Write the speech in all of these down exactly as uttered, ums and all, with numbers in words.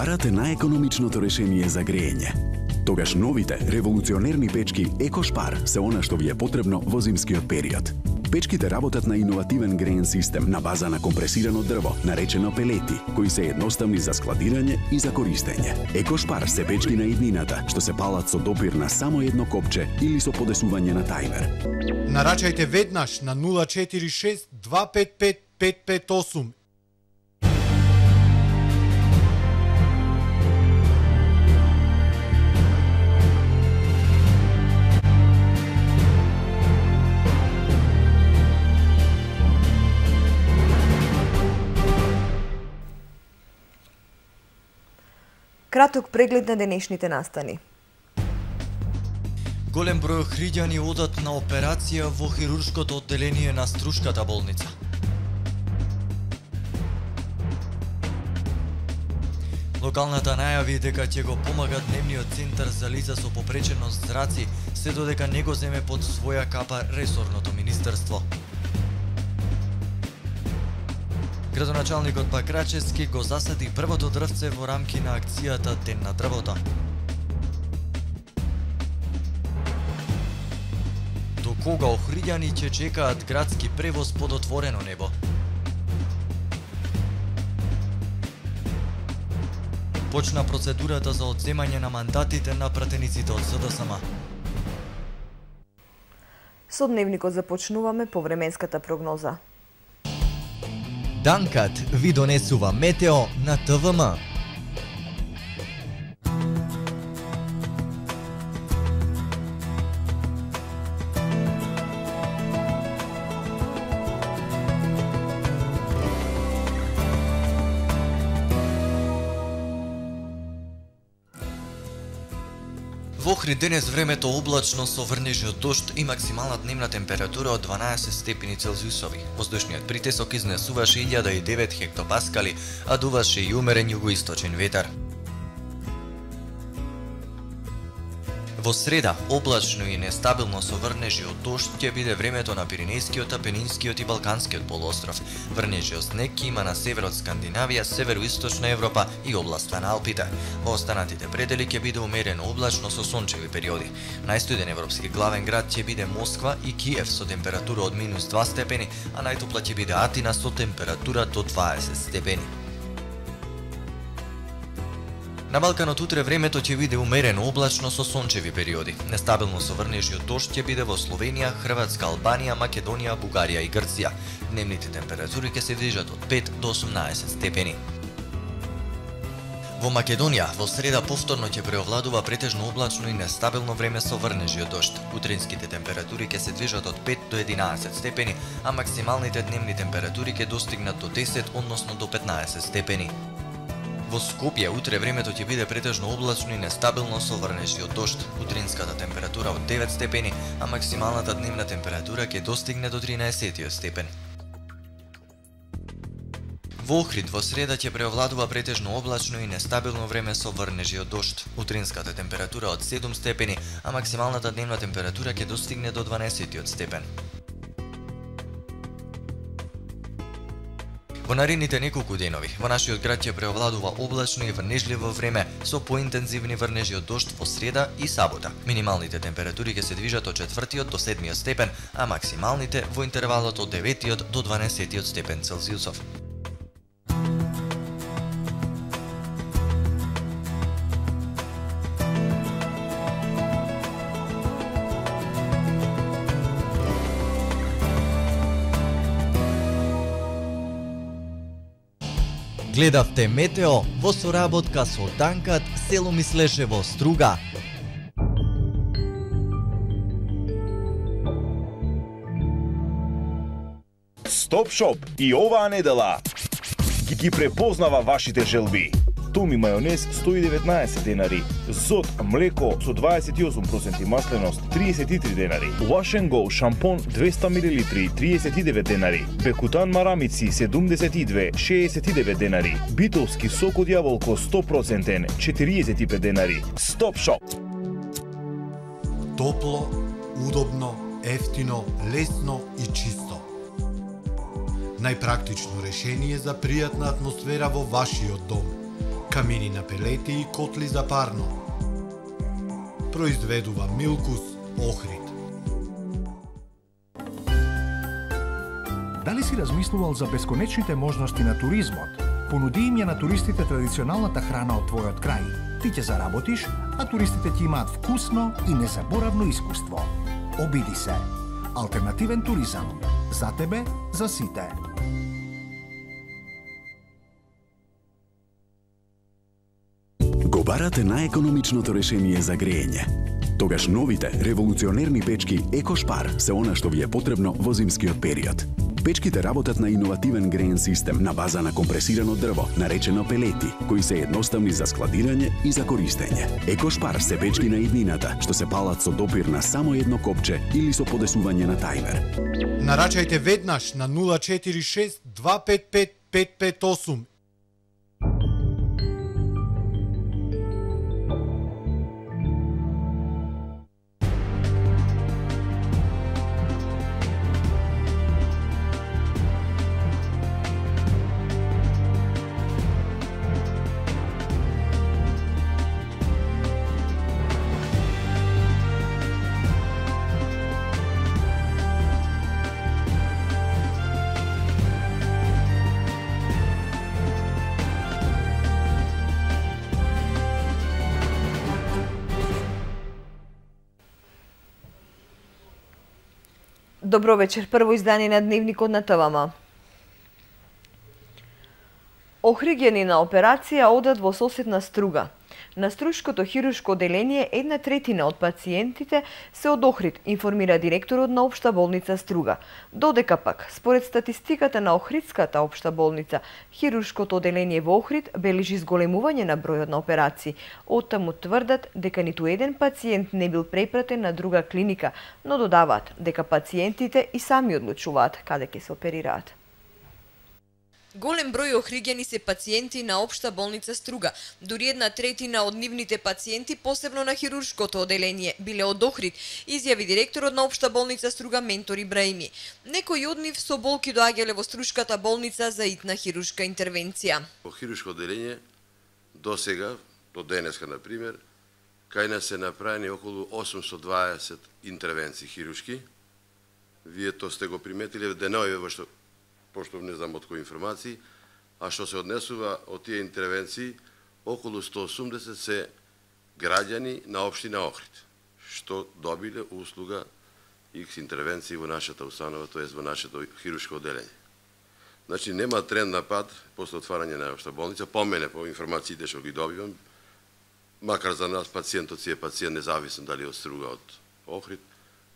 Барате најекономичното решение за грејење. Тогаш новите револуционерни печки Екошпар се она што ви е потребно во зимскиот период. Печките работат на иновативен греен систем на база на компресирано дрво, наречено пелети, кои се едноставни за складирање и за користење. Екошпар се печки на иднината, што се палат со допир на само едно копче или со подесување на тајмер. Нарачајте веднаш на нула четири шест два пет пет пет пет осум. Краток преглед на денешните настани. Голем број охриѓани одат на операција во хируршкото одделение на Струшката болница. Локалната најави дека ќе го помага дневниот центар за лица со попреченост зраци, се додека не го земе под своја капа ресорното министерство. Градоначалникот Пакрачевски го засади првото дрвце во рамки на акцијата Ден на дрвото. До кога охриѓани ќе чекаат градски превоз под отворено небо? Почна процедурата за одземање на мандатите на пратениците од СДСМ. Со дневникот започнуваме по временската прогноза. Данкат ви донесува метео на ТВМ. Во Охрид денес времето облачно со врнежи од дожд и максимална дневна температура од дванаесет степени Целзиусови. Воздушниот притисок изнесуваше илјада и девет хектопаскали, а дуваше и умерен југоисточен ветар. Во среда, облачно и нестабилно со врнежи од дожд ќе биде времето на Пиренејскиот, Апенинскиот и Балканскиот полуостров. Врнежи од снег ќе има на север од Скандинавија, североисточна Европа и областа на Алпите. Во останатите предели ќе биде умерено облачно со сончеви периоди. Најстуден европски главен град ќе биде Москва и Киев со температура од минус два степени, а најтопла ќе биде Атина со температура до дваесет степени. На Балканот утре времето ќе биде умерено облачно со сончеви периоди. Нестабилно со врнежи од дожд ќе биде во Словенија, Хрватска, Албанија, Македонија, Бугарија и Грција. Дневните температури ќе се движат од пет до осумнаесет степени. Во Македонија во среда повторно ќе преовладува претежно облачно и нестабилно време со врнежи од дожд. Утринските температури ќе се движат од пет до единаесет степени, а максималните дневни температури ќе достигнат до десет, односно до петнаесет степени. Во Скопје утре времето ќе биде претежно облачно и нестабилно со врнежи од дожд. Утринската температура од девет степени, а максималната дневна температура ќе достигне до тринаесет степен. Во Охрид во среда ќе преовладува претежно облачно и нестабилно време со врнежи од дожд. Утринската температура од седум степени, а максималната дневна температура ќе достигне до дванаесет степен. Во наредните неколку денови, во нашиот град ќе преовладува облачно и врнежливо време со поинтензивни врнежи од дожд во среда и сабота. Минималните температури ќе се движат од четвртиот до седмиот степен, а максималните во интервалот од деветиот до дванаесетиот степен Целзиусов. Гледавте метео во соработка со Данкат, село Мислешево, Струга. Стоп Шоп и оваа недела ги препознава вашите желби. Томи мајонез сто и деветнаесет денари, Зод млеко со дваесет и осум проценти масленост триесет и три денари, Wash and Go шампон двеста милилитри триесет и девет денари, Бекутан марамици седумдесет и две шеесет и девет денари, Битовски сок од јаболко сто проценти четириесет и пет денари. Стоп Шоп. Топло, удобно, ефтино, лесно и чисто. Најпрактично решение за пријатна атмосфера во вашиот дом. камини на пелети и котли за парно. Произведува Милкус Охрид. Дали си размислувал за бесконечните можности на туризмот? Понуди им ја на туристите традиционалната храна од твојот крај. Ти ќе заработиш, а туристите ќе имаат вкусно и незаборавно искуство. Обиди се. Алтернативен туризам. За тебе, за сите. Го барате најекономичното решение за грејење. Тогаш новите револуционерни печки Екошпар се она што ви е потребно во зимскиот период. Печките работат на иновативен греен систем на база на компресирано дрво, наречено пелети, кои се едноставни за складирање и за користење. Екошпар се печки на иднината, што се палат со допир на само едно копче или со подесување на тајмер. Нарачајте веднаш на нула четири шест два пет пет пет пет осум. Добро вечер. Прво издание на Дневникот на ТВМ. Охригјанина операција одат во соседна Струга. На Струшкото хируршко оделение една третина од пациентите се од Охрид, информира директорот на Општа болница Струга. Додека пак, според статистиката на Охридската општа болница, хируршкото оделение во Охрид бележи зголемување на бројот на операции. Оттаму тврдат дека ниту еден пациент не бил препратен на друга клиника, но додаваат дека пациентите и сами одлучуваат каде ќе се оперираат. Голем број охриѓани се пациенти на Општа болница Струга. Дури една третина од нивните пациенти, посебно на хируршкото оделение, биле од Охрид, изјави директорот на Општа болница Струга Ментор Ибраими. Некои од нив со болки доаѓале во Струшката болница за итна хируршка интервенција. Во хируршко оделение до сега, до денеска на пример, кај нас се направени околу осумстотини и дваесет интервенции хируршки. Вие тоа сте го приметиле денови во што пошто не знам од кои информации, а што се однесува од тие интервенции, околу сто и осумдесет се граѓани на општина Охрид, што добиле услуга икс интервенции во нашата установа, тоест во нашето хируршко оделение. Значи, нема тренд на пад после отварање на општа болница, по мене, по информациите што ги добивам, макар за нас пациентот си е пациент, независно дали од Струга, од Охрид,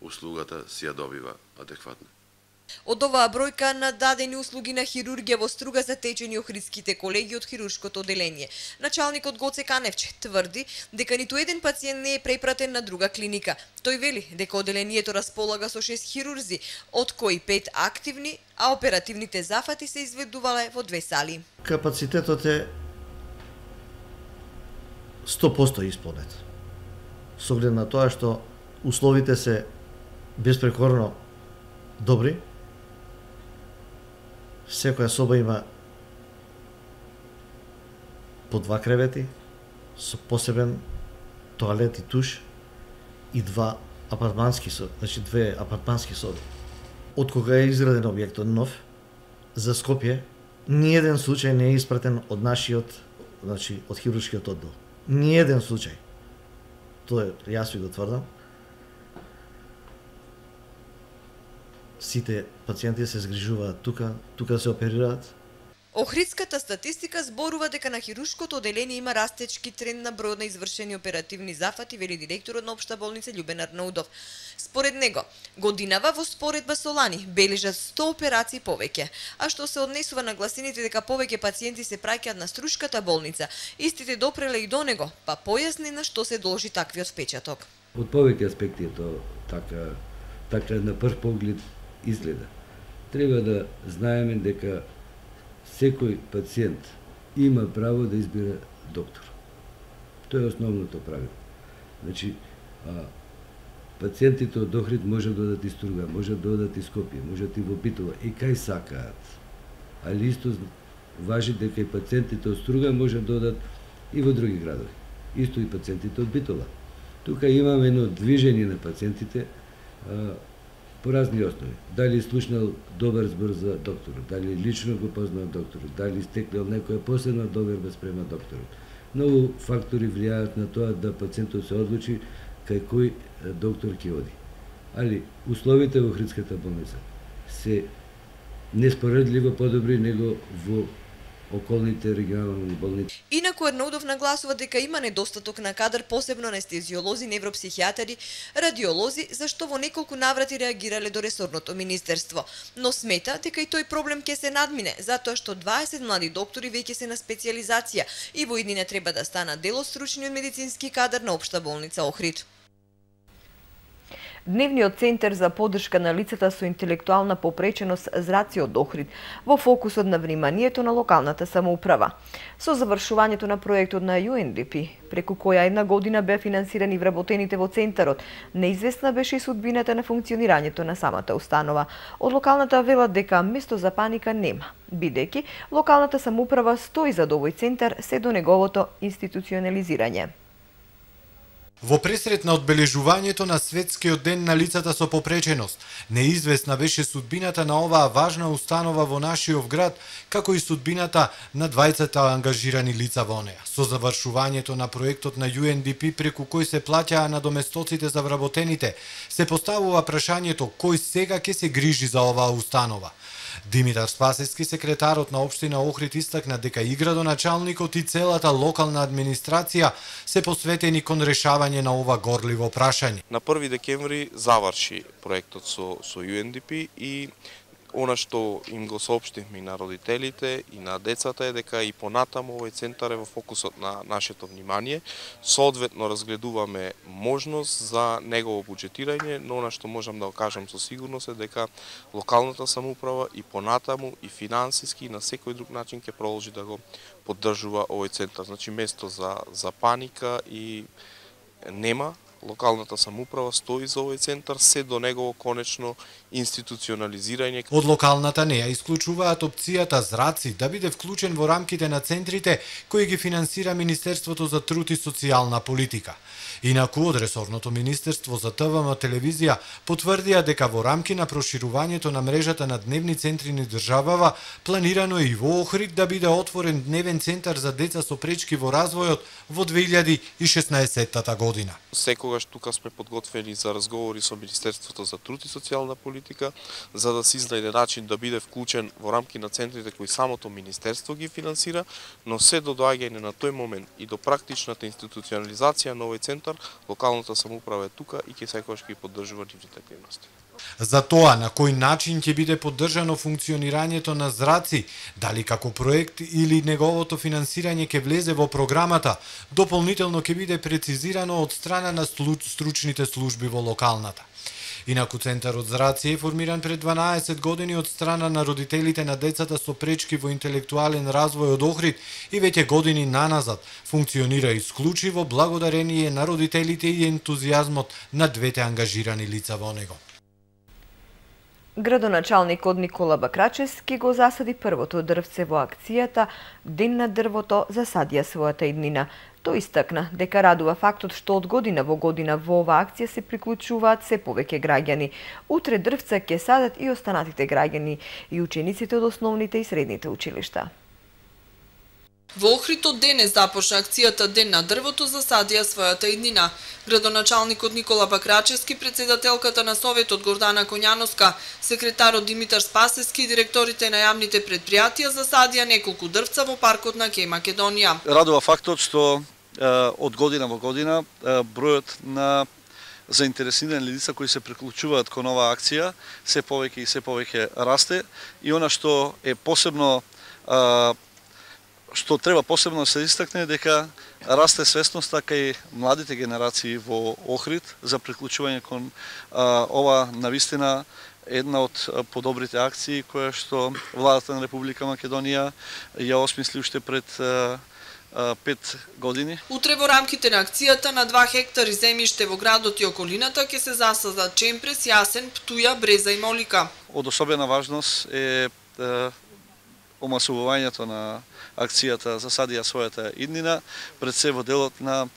услугата си ја добива адекватно. Од оваа бројка на дадени услуги на хирургија во Струга затечени охридските колеги од хируршкото оделение. Началникот Гоце Каневче тврди дека ниту еден пациент не е препратен на друга клиника. Тој вели дека оделението располага со шест хирурзи, од кои пет активни, а оперативните зафати се изведувале во две сали. Капацитетот е сто проценти исполнет. Со оглед на тоа што условите се беспрекорно добри, секоја соба има по два кревети, со посебен тоалет и туш и два апартмански соби, значи две апартмански соби. Од кога е изграден објектот нов, за Скопје, ниеден случај не е испратен од нашиот, значи од хируршкиот оддел. Ниеден случај. Тоа јас ви го тврдам. Сите пациенти се згрижуваат тука, тука се оперираат. Охридската статистика зборува дека на хируршкото оделение има растечки тренд на бројот на извршени оперативни зафати, вели директорот на Општа болница Љубен Арнаудов. Според него, годинава во споредба со лани бележат сто операции повеќе, а што се однесува на гласините дека повеќе пациенти се праќаат на Струшката болница, истите допреле и до него, па појасни на што се должи таквиот впечаток. Од повеќе аспекти е тоа така, така на прв поглед изгледа. Треба да знаеме дека секој пациент има право да избира доктор. Тоа е основното правило. Значи, а, пациентите од Охрид може да додат и Струга, може да додат и Скопје, може и во Битола, и кај сакаат. Али исто важи дека и пациентите од Струга може да додат и во други градови. Исто и пациентите од Битола. Тука имаме едно движење на пациентите а, по разни основи. Дали слушнал добар збор за докторот, дали лично го познал докторот, дали стекнал некоја посебна доверба спрема докторот. Многу фактори влијаат на тоа да пациентот се одлучи кај кој доктор ќе оди. Али условите во Охридската болница се неспоредливо подобри него во околните регионални болници. Инаку Ернаудов нагласува дека има недостаток на кадар, посебно анестезиолози, невропсихијатари, радиолози, зашто во неколку наврати реагирале до ресорното министерство. Но смета дека и тој проблем ќе се надмине, затоа што дваесет млади доктори веќе се на специјализација и во иднина треба да станат дел од стручниот медицински кадар на Општа болница Охрид. Дневниот центар за поддршка на лицата со интелектуална попреченост Зраци од Охрид во фокусот на вниманието на локалната самоуправа. Со завршувањето на проектот на Ю Ен Ди Пи, преку која една година беа финансирани вработените во центарот, неизвестна беше и судбината на функционирањето на самата установа. Од локалната велат дека место за паника нема, бидејќи локалната самоуправа стои зад овој центар се до неговото институционализирање. Во пресрет на одбележувањето на Светскиот ден на лицата со попреченост, неизвестна беше судбината на оваа важна установа во нашиот град, како и судбината на двајцата ангажирани лица во неа. Со завршувањето на проектот на Ю Ен Ди Пи, преку кој се плаќаа надоместоците за вработените, се поставува прашањето кој сега ќе се грижи за оваа установа. Димитар Спасевски, секретарот на општина Охрид, истакна дека и градоначалникот и целата локална администрација се посветени кон решавање на ова горливо прашање. На први декември заврши проектот со, со Ю Ен Ди Пи и она што им го соопштивме и на родителите и на децата е дека и понатаму овој центар е во фокусот на нашето внимание. Соодветно разгледуваме можност за негово буџетирање, но она што можам да го кажам со сигурност е дека локалната самоуправа и понатаму и финансиски и на секој друг начин ќе продолжи да го поддржува овој центар. Значи место за за паника и нема. Локалната самоуправа стои за овој центар се до негово конечно институционализирање. Од локалната не ја исклучуваат опцијата Зраци да биде вклучен во рамките на центрите кои ги финансира Министерството за труд и социјална политика. Инаку од ресорното Министерство за Т В М телевизија потврдија дека во рамки на проширувањето на мрежата на дневни центри на државава планирано е и во Охрид да биде отворен дневен центар за деца со пречки во развојот во две илјади и шеснаесетта година. Секогаш тука сме подготвени за разговори со Министерството за труд и социјална политика за да се изнајде начин да биде вклучен во рамки на центрите кои самото Министерство ги финансира, но се до доаѓање на тој момент и до практичната институционализација на овој центар, локалната самоуправа е тука и ќе секогаш ќе поддржува нивните активности. За тоа на кој начин ќе биде поддржано функционирањето на Зраци, дали како проект или неговото финансирање ќе влезе во програмата, дополнително ќе биде прецизирано од страна на стручните служби во локалната. Инаку центарот Зраци е формиран пред дванаесет години од страна на родителите на децата со пречки во интелектуален развој од Охрид и веќе години наназад функционира исклучиво благодарение на родителите и ентузијазмот на двете ангажирани лица во него. Градоначалникот Никола Бакрачевски го засади првото дрвце во акцијата Ден на дрвото засадија својата иднина. Тој истакна дека радува фактот што од година во година во оваа акција се приклучуваат се повеќе граѓани. Утре дрвца ќе садат и останатите граѓани и учениците од основните и средните училишта. Во Охрид од денес започна акцијата Ден на дрвото засадија својата иднина. Градоначалникот Никола Бакрачевски, председателката на Советот Гордана Коњановска, секретарот Димитар Спасевски и директорите на јавните предпријатија засадија неколку дрвца во паркот на Ке Македонија. Радува фактот што од година во година бројот на заинтересирани лица кои се приклучуваат кон оваа акција се повеќе и се повеќе расте и она што е посебно што треба посебно да се истакне дека расте свесноста кај младите генерации во Охрид за приклучување кон а, ова навистина една од подобрите акции која што владата на Република Македонија ја осмисли уште пред а, пет години. Утре во рамките на акцијата на два хектари земјиште во градот и околината ќе се засадат чемпрес, јасен, птуја, бреза и молика. Од особена важност е омасувањето на акцијата Засади ја својата иднина, пред се во делот на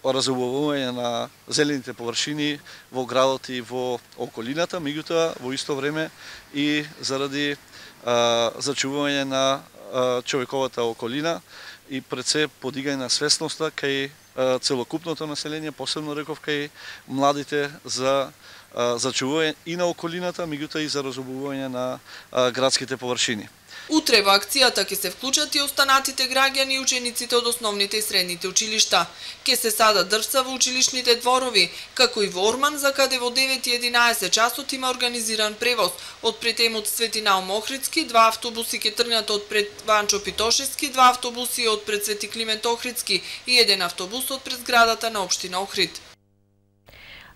разубавување на зелените површини во градот и во околината, меѓутоа во исто време и заради а, зачувување на а, човековата околина и пред се подигање на свесноста кај а, целокупното население, посебно реков кај младите за а, зачувување и на околината, меѓутоа и за разубавување на а, градските површини. Утре во акцијата ќе се вклучат и останатите граѓани и учениците од основните и средните училишта. Ќе се садат дрвца во училишните дворови, како и во Орман, за каде во девет и единаесет часот има организиран превоз. Од пред емот Свети Наум Охридски, два автобуси ќе тргнат од пред Ванчо Питошевски, два автобуси од пред Свети Климент Охридски и еден автобус од пред зградата на општина Охрид.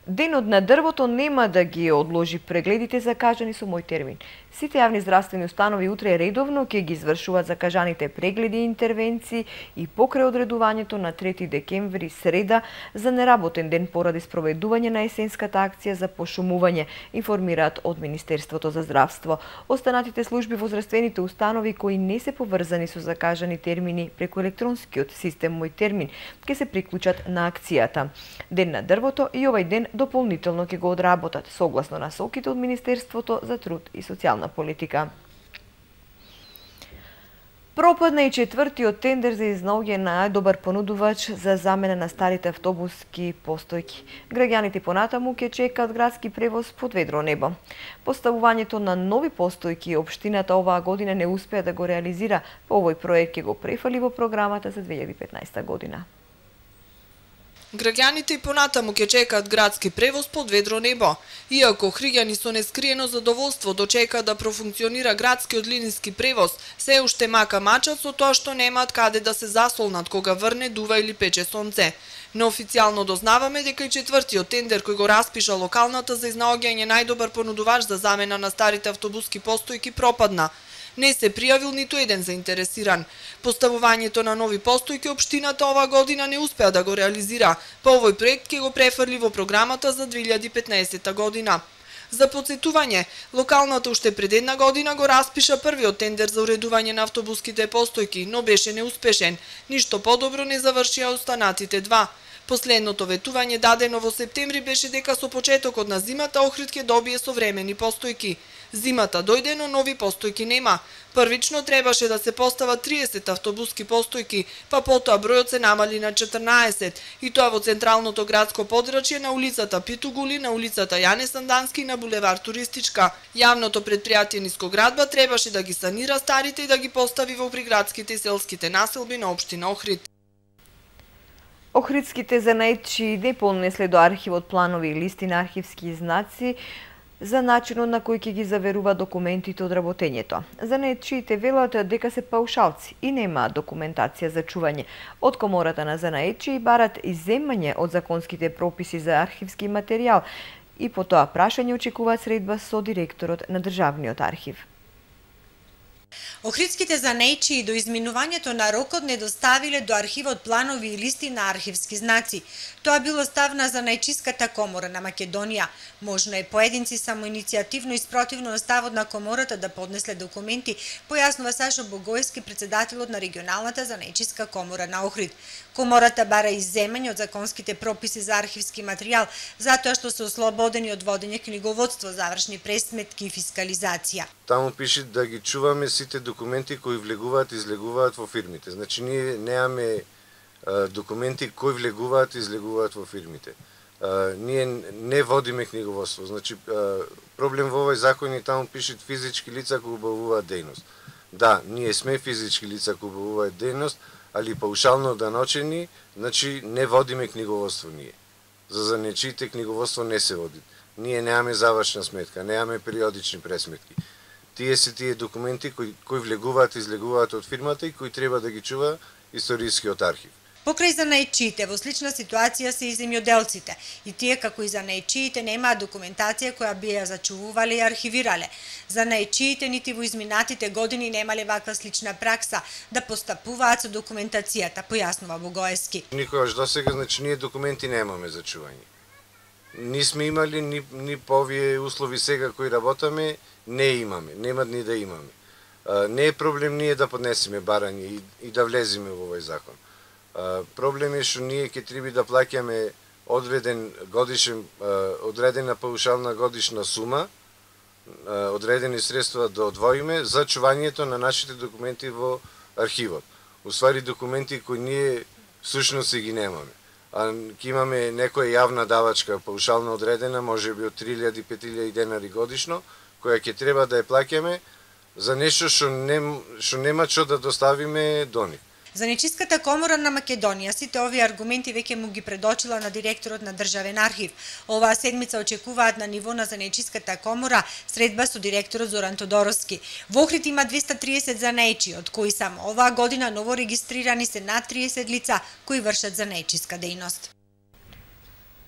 Денот на дрвото нема да ги одложи прегледите закажани со мој термин. Сите јавни здравствени установи утре редовно ќе ги извршуваат закажаните прегледи и интервенции и покрај одредувањето на трети декември среда за неработен ден поради спроведување на есенската акција за пошумување, информираат од Министерството за здравство. Останатите служби во здравствените установи кои не се поврзани со закажани термини преку електронскиот систем Мој термин ќе се приклучат на акцијата. Ден на дрвото и овај ден дополнително ќе го одработат согласно насоките од Министерството за труд и социјална политика. Пропадна и четвртиот тендер за изнаоѓање на најдобар понудувач за замена на старите автобуски постојки. Граѓаните понатаму ќе чекаат градски превоз под ведро небо. Поставувањето на нови постојки општината оваа година не успеа да го реализира, по овој проект ќе го префали во програмата за две илјади и петнаесета година. Граѓаните и понатаму ќе чекаат градски превоз под ведро небо. Иако охриѓани со нескриено задоволство дочекаат да профункционира градскиот линиски превоз, се уште мака мачат со тоа што немаат каде да се засолнат кога врне, дува или пече сонце. Неофицијално дознаваме дека и четвртиот тендер кој го распиша локалната за изнаоѓање најдобар понудувач за замена на старите автобуски постојки пропадна. Не се пријавил ниту еден заинтересиран. Поставувањето на нови постојки општината оваа година не успеа да го реализира. По овој проект ќе го префрли во програмата за две илјади и петнаесета година. За подсетување, локалната уште пред една година го распиша првиот тендер за уредување на автобуските постојки, но беше неуспешен. Ништо подобро не завршија останатите два. Последното ветување дадено во септември беше дека со почетокот на зимата Охрид ќе добие современи постојки. Зимата дојде, но нови постојки нема. Првично требаше да се постават триесет автобуски постојки, па потоа бројот се намали на четрнаесет, и тоа во централното градско подрачје на улицата Питугули, на улицата Јане Сандански и на булевар Туристичка. Јавното предпријатие Нискоградба требаше да ги санира старите и да ги постави во приградските и селските населби на општина Охрид. Охридските занаетчии не понесле до архивот планови и листи на архивски знаци за начинот на кој ќе ги заверува документите од работењето. Занаетчиите велат дека се паушалци и немаат документација за чување. Од Комората на занаетчии барат изземање од законските прописи за архивски материјал и по тоа прашање очекуваат средба со директорот на Државниот архив. Охридските занаетчии до изминувањето на рокот не доставиле до архивот планови и листи на архивски знаци. Тоа било став на Занаетчиската комора на Македонија. Можно е поединци самоиницијативно и спротивно на ставот на комората да поднесле документи, појаснува Сашо Богојски, председателот на регионалната Занаетчиска комора на Охрид. Комората бара изземање од законските прописи за архивски материјал, затоа што се ослободени од водење книговодство, завршни пресметки и фискализација. Таму пише да ги чуваме сите документи кои влегуваат и излегуваат во фирмите. Значи ние немаме документи кои влегуваат и излегуваат во фирмите. А, ние не водиме книговодство. Значи проблем во овој закон и таму пишат физички лица кои обавуваат дејност. Да, ние сме физички лица кои обавуваат дејност, али паушално даночени, значи не водиме книговодство ние. За занаетчиите книговодство не се води. Ние немаме завршна сметка, немаме периодични пресметки. Тие се тие документи кои, кои влегуваат и излегуваат од фирмата и кои треба да ги чува историскиот архив. Покрај занаетчиите во слична ситуација се и земјоделците, и тие како и занаетчиите немаат документација која би ја зачувувале и архивирале. Занаетчиите нити во изминатите години немале ваква слична пракса да постапуваат со документацијата, појаснува Богојски. Никогаш досега, значи ние документи немаме за чување. Ни сме имали, ни, ни по овие услови сега кои работаме, не имаме, нема ни да имаме. Не е проблем ние да поднесеме барање и, и да влеземе во овој закон. Проблем е што ние ќе треба да плаќаме одреден годишен, одредена паушална годишна сума, одредени средства да одвоиме за чувањето на нашите документи во архивот. Уствари документи кои ние всушност си ги немаме. А ќе имаме некоја јавна давачка паушално одредена, може би од три илјади до пет илјади денари годишно, која ќе треба да ја плаќаме за нешто што нем, што нема што да доставиме до нив. За Нечиската комора на Македонија сите овие аргументи веќе му ги предочила на директорот на Државен архив. Оваа седмица очекуваат на ниво на Занечиската комора средба со директорот Зоран Тодоровски. Во Охрид има двеста триесет занаечи, од кои само оваа година ново регистрирани се над триесет лица кои вршат занаечиска дејност.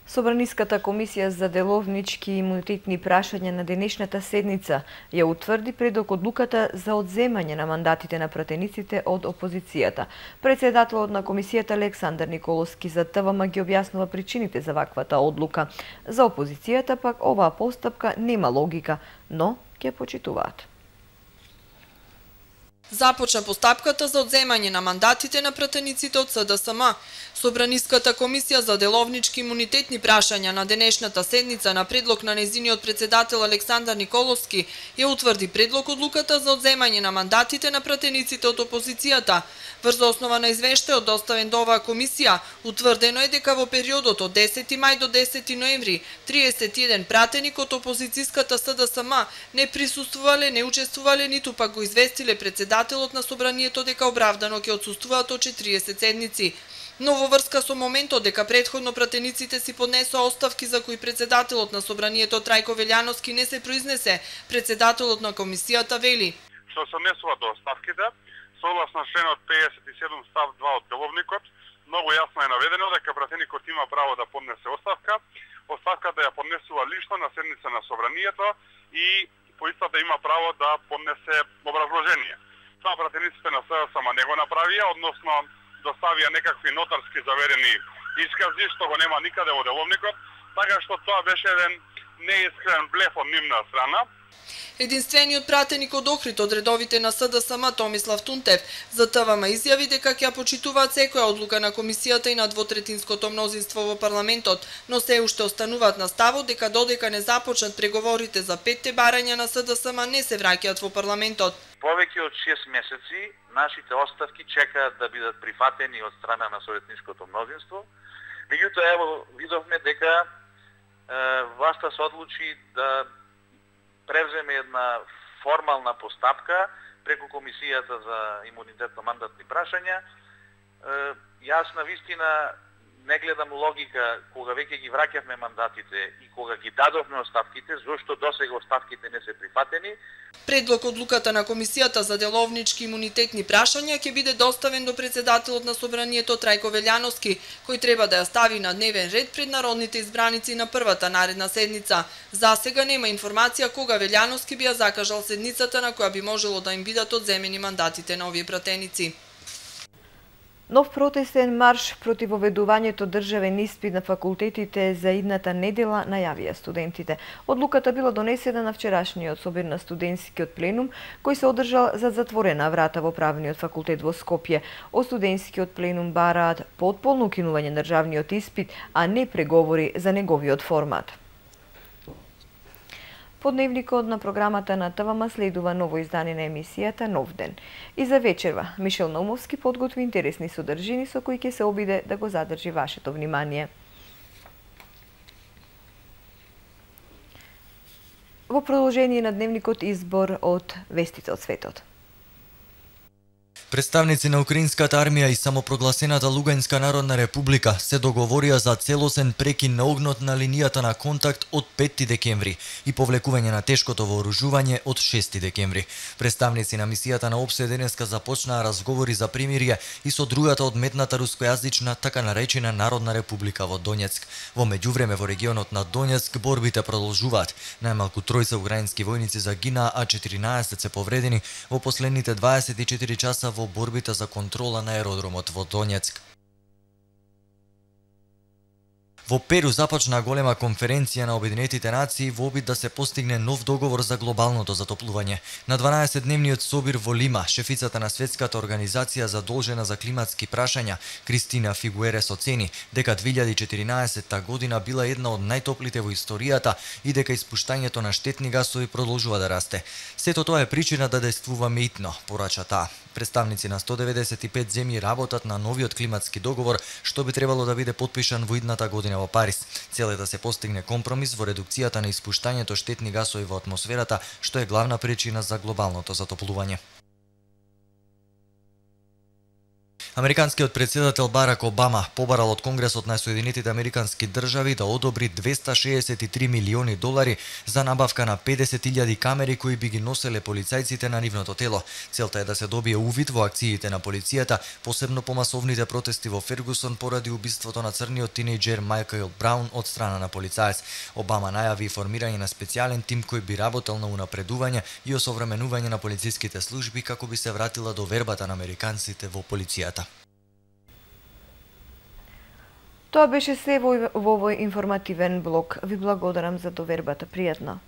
Собраниската комисија за деловнички и имунитетни прашања на денешната седница ја утврди предок одлуката за одземање на мандатите на пратениците од опозицијата. Председателот на комисијата Александар Николовски за ТВМ ги објаснува причините за ваквата одлука. За опозицијата пак оваа постапка нема логика, но ќе почитуваат. Започна постапката за одземање на мандатите на пратениците од СДСМ. Собраниската комисија за деловнички имунитетни прашања на денешната седница на предлог на нејзиниот председател Александар Николовски ја утврди предлог одлуката за одземање на мандатите на пратениците од опозицијата. Врз основа на извештајот доставен до оваа комисија, утврдено е дека во периодот од десети мај до десети ноември триесет и еден пратеник од опозицијската СДСМ не присуствувале, не учествувале, ниту пак го известиле председателот на собранието дека оправдано ќе отсуствуваат од четириесет седници. Но во врска со моментот дека претходно пратениците си поднесоа оставки за кои председателот на собранието Трајко Велјановски не се произнесе, председателот на комисијата вели: Што се однесува до оставките, согласно членот педесет и седум став два од деловникот, многу јасно е наведено дека пратеникот има право да поднесе оставка. Оставката ја поднесува лично на седница на собранието и по истата има право да поднесе образложение. Това пратениците на СДСМ не го направија, односно доставија некакви нотарски заверени искази, што го нема никаде во деловникот, така што тоа беше еден неискрен блеф од нивна страна. Единствениот пратеник од Охрид од редовите на СДСМ Томислав Тунтев за ТВМ изјави дека ќе почитуваат секоја одлука на комисијата и на двотретинското мнозинство во парламентот, но се уште остануваат на ставот дека додека не започнат преговорите за петте барања на СДСМ не се враќаат во парламентот. Повеќе од шест месеци нашите оставки чекаат да бидат прифатени од страна на советничкото мнозинство. Меѓутоа, ево, видовме дека е, власта се одлучи да превземе една формална постапка преку Комисијата за имунитетно-мандатни прашања. Е, јас на вистина не гледам логика кога веќе ги враќавме мандатите и кога ги дадовме оставките, зошто досега оставките не се прифатени. Предлог одлуката на Комисијата за деловнички имунитетни прашања ќе биде доставен до председателот на собранието Трајко Велјановски, кој треба да ја стави на дневен ред пред народните избраници на првата наредна седница. За сега нема информација кога Велјановски би ја закажал седницата на која би можело да им бидат одземени мандатите на овие пратеници. Нов протестен марш против воведувањето државен испит на факултетите за идната недела најавија студентите. Одлуката била донесена на вчерашниот собир на студентскиот пленум, кој се одржал за затворена врата во правниот факултет во Скопје. Од студентскиот пленум бараат потполно укинување на државниот испит, а не преговори за неговиот формат. По дневникот на програмата на ТВМ следува ново издание на емисијата Нов ден. И за вечерва Мишел Наумовски подготви интересни содржини со кои ќе се обиде да го задржи вашето внимание. Во продолжение на дневникот избор од вестите од светот. Представници на Украинската армија и самопрогласената Луганска народна република се договорија за целосен прекин на огнот на линијата на контакт од петти декември и повлекување на тешкото вооружување од шести декември. Представници на мисијата на ОПСЕ денеска започнаа разговори за примирие и со другата одметната рускојазична така наречена Народна република во Донецк. Во меѓувреме во регионот на Донецк борбите продолжуваат. Најмалку тројца украински војници загинаа, а четиринаесет се повредени во последните дваесет и четири часа во борбите за контрола на аеродромот во Донецк. Во Перу започна голема конференција на Обединетите нации во обид да се постигне нов договор за глобалното затоплување. На дванаесетдневниот собир во Лима, шефицата на Светската организација задолжена за климатски прашања, Кристина Фигуерес оцени дека две илјади и четиринаесетта година била една од најтоплите во историјата и дека испуштањето на штетни гасови продолжува да расте. Сето тоа е причина да действуваме итно, порача таа. Представници на сто деветдесет и пет земји работат на новиот климатски договор, што би требало да биде потпишан во идната година во Париз. Цел е да се постигне компромис во редукцијата на испуштањето штетни гасови во атмосферата, што е главна причина за глобалното затоплување. Американскиот председател Барак Обама побарал од Конгресот на Соединетите Американски држави да одобри двеста шеесет и три милиони долари за набавка на педесет илјади камери кои би ги носеле полицајците на нивното тело. Целта е да се добие увид во акциите на полицијата, посебно по масовните протести во Фергусон поради убиството на црниот тинејџер Майкл Браун од страна на полицаец. Обама најави формирање на специјален тим кој би работел на унапредување и осовременување на полициските служби како би се вратила довербата на американците во полицијата. Тоа беше се во овој информативен блок. Ви благодарам за довербата. Пријатно.